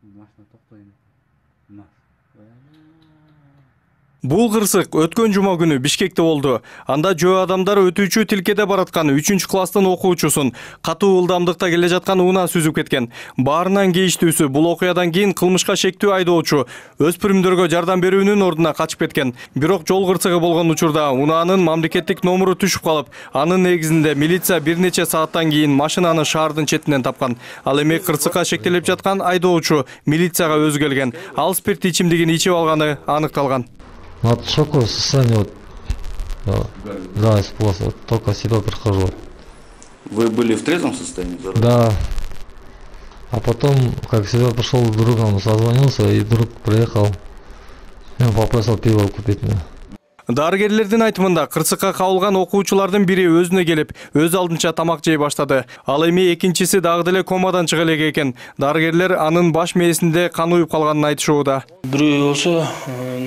Машина токтойм. Бул кырсык өткөн жума күнү Бишкекте болду. Анда жөө адамдар өтүүчү тилкеде бараткан 3-класстын окуучусун катуу ылдамдыкта келе жаткан унаан сүзүп кеткен. Баарынан кейиштүүсү бул окуядан кийин кылмышка шектүү айдоочу өспүрүмдөргө жардам берүүнүн ордуна качып кеткен. Бирок жол кырсыгы болгон учурда унаанын мамлекеттик номуру түшүп калып, анын негизинде милиция бир нече сааттан кийин машинаны шаардын четинен тапкан. Ал эми кырсыкка шектелип жаткан айдоочу милицияга өзү келген. Ал спирт ичимдигин ичип алганы аныкталган. От шоковое состояние, да, испугался, только себя прихожу. Вы были в трезвом состоянии? Да. А потом, как себя пришел, другом созвонился, и друг приехал, и попросил пиво купить мне. Дарыгерлердин айтымында кырсыкка кабылган окуучулардын бири өзүнө келип, өз алдынча тамак жей баштады. Ал эми экинчиси дагы деле комадан чыга элек экен. Дарыгерлер анын баш мээсинде кан уюп калганын айтышууда. Бирөө болсо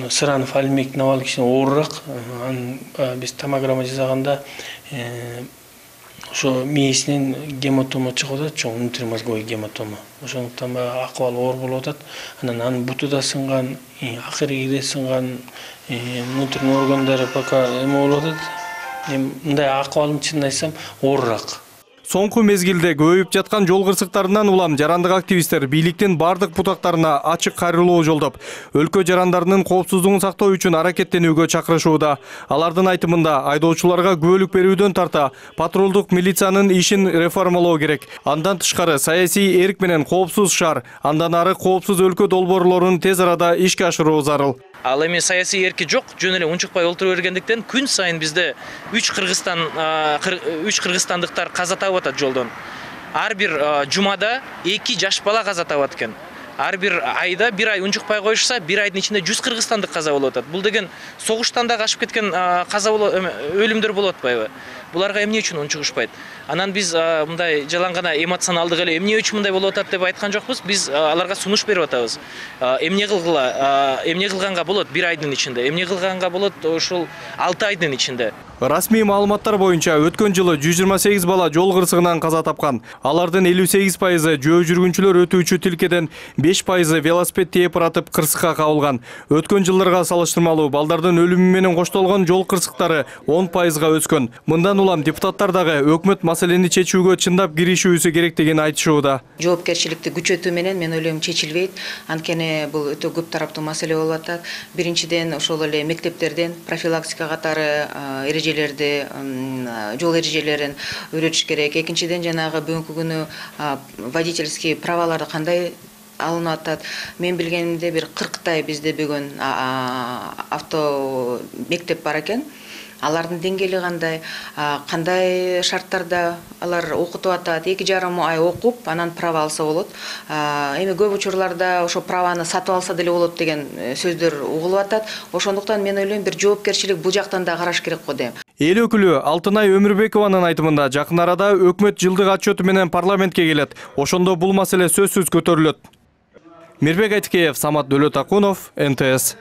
Сыранов Алимбек Навал киши оорураак. Биз томограмма жасаганда ошо мээсинен гематома чыгып атат, чоң внутримозговой гематома. Ошондуктан баягы акыбалы оор болуп атат. Анан буту да сынган, акыркиде сынган, внутренний органдары пока эме болуп атат. Мындай акыбалын чынын айтсам оорураак. Соңку мезгилде көбөйүп жаткан жол кырсыктарынан улам жарандык активисттер бийликтин бардык бутактарына ачык кайрылуу жолдоп, өлкө жарандарынын коопсуздугун сактоо үчүн аракеттенүүгө чакырышууда. Алардын айтымында айдоочуларга күбөлүк берүүдөн тарта патрулдук милициянын ишин реформалоо керек. Андан тышкары саясий эрк менен коопсуз шаар, андан ары коопсуз өлкө долбоорлорун тез арада ишке ашыруу зарыл. Ал эми саясий эрки жок, жөн эле унчукпай олтура бергендиктен күн сайын бизде 3 кыргызстандыктар каза табып атат жолдон. Ар бир жумада 2 жаш бала каза табат экен. Ар бир айда бир ай унчукпай коюшса, бир айдын ичинде 100 кыргызстандык каза болуп атат. Бул деген согуштан да качып кеткен каза өлүмдөр болуп атпайбы? Буларга эмне үчүн унчугушпайт? Анан биз мындай жалаң гана эмоционалдык эле эмне үчүн мындай болуп атат деп айткан жокпуз. Биз аларга сунуш берип атабыз. Эмне кылганга болот бир айдын ичинде, эмне кылганга болот ошол 6 айдын ичинде. Расмий маалыматтар боюнча өткөн жылы 128 бала жол кырсыгынан каза тапкан. Алардын 58% жөө жүргүнчүлөр өтүүчү тилкеден, 5% велосипед тээп баратып кырсыкка кабылган. Өткөн жылдарга салыштырмалуу балдардын өлүмү менен коштолгон жол кырсыктары 10%га өскөн. Мындан улам депутаттар дагы өкмөт маселени чечүүгө чындап киришүүсү керектигин айтышууда. Жоопкерчиликти күчөтүү менен мен ойлойм чечилбейт. Анткени бул өтө көп тараптуу маселе болуп атат. Биринчиден ошол эле мектептерден профилактика катары жол эрежелерин үйрөтүш керек. Экинчиден жанагы бүгүнкү күнү водительский праваларды кандай алынып атат. Мен билгенимде бир 40 бизде бүгүн авто мектеп бар экен. Алардын деңгээли кандай шарттарда алар окутуп атат, 2,5 ай окуп, анан права алса болот. Эми көп учурларда ошо праваны сатып алса деле болот деген сөздөр угулуп атат. Ошондуктан мен ойлойм бир жоопкерчилик бул жактан да караш керек го дейм. Эл өкүлү Алтынай Өмүрбекованын айтымында жакын арада өкмөт жылдык отчету менен парламентке келет. Ошондо бул маселе сөзсүз көтөрүлөт. Мирбек Айтыкеев, Самат Дөлөтакунов, НТС.